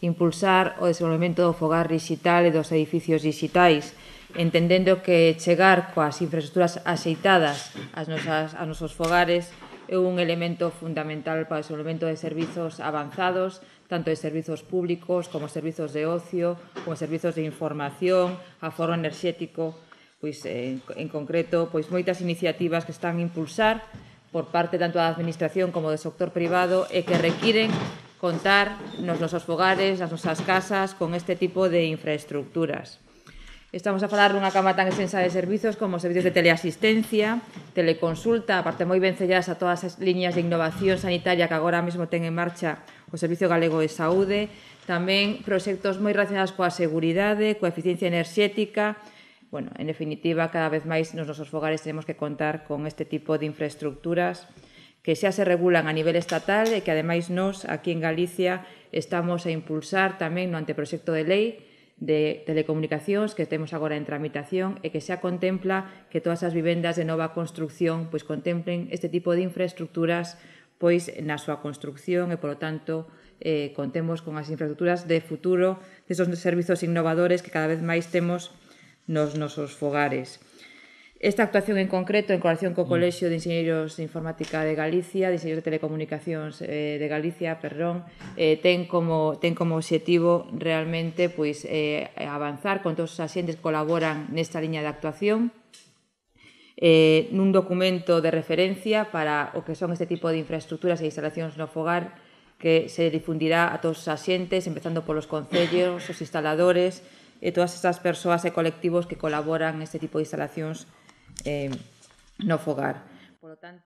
impulsar o desenvolvemento do fogar digital e dos edificios digitais, entendendo que chegar coas infraestructuras axeitadas aos nosos fogares é un elemento fundamental para o desenvolvemento de servizos avanzados, tanto de servizos públicos como servizos de ocio, como servizos de información, aforro enerxético, pois en concreto, pois moitas iniciativas que están a impulsar por parte tanto da administración como do sector privado e que requiren contar nos nosos fogares, nas nosas casas, con este tipo de infraestructuras. Estamos a falar dunha gama tan extensa de servizos como servizos de teleasistencia, teleconsulta, aparte moi vencelladas a todas as liñas de innovación sanitaria que agora mesmo ten en marcha o Servicio Galego de Saúde, tamén proxectos moi relacionados coa seguridade, coa eficiencia enerxética. Bueno, en definitiva, cada vez máis nos nosos fogares tenemos que contar con este tipo de infraestructuras que xa se regulan a nivel estatal e que, ademais, nós, aquí en Galicia, estamos a impulsar tamén no anteproxecto de lei de telecomunicacións que temos agora en tramitación e que xa contempla que todas as vivendas de nova construcción pois contemplen este tipo de infraestructuras pois na súa construcción e, polo tanto, contemos con as infraestructuras de futuro desos servizos innovadores que cada vez máis temos nos nosos fogares. Esta actuación en concreto, en colaboración co Colexio de Enxeñeiros de Informática de Galicia, de Enxeñeiros de Telecomunicacións de Galicia, ten como obxectivo realmente pois, avanzar con todos os axentes que colaboran nesta liña de actuación nun documento de referencia para o que son este tipo de infraestructuras e instalacións no fogar que se difundirá a todos os axentes, empezando polos concellos, os instaladores e todas estas persoas e colectivos que colaboran neste tipo de instalacións no fogar. Por lo tanto,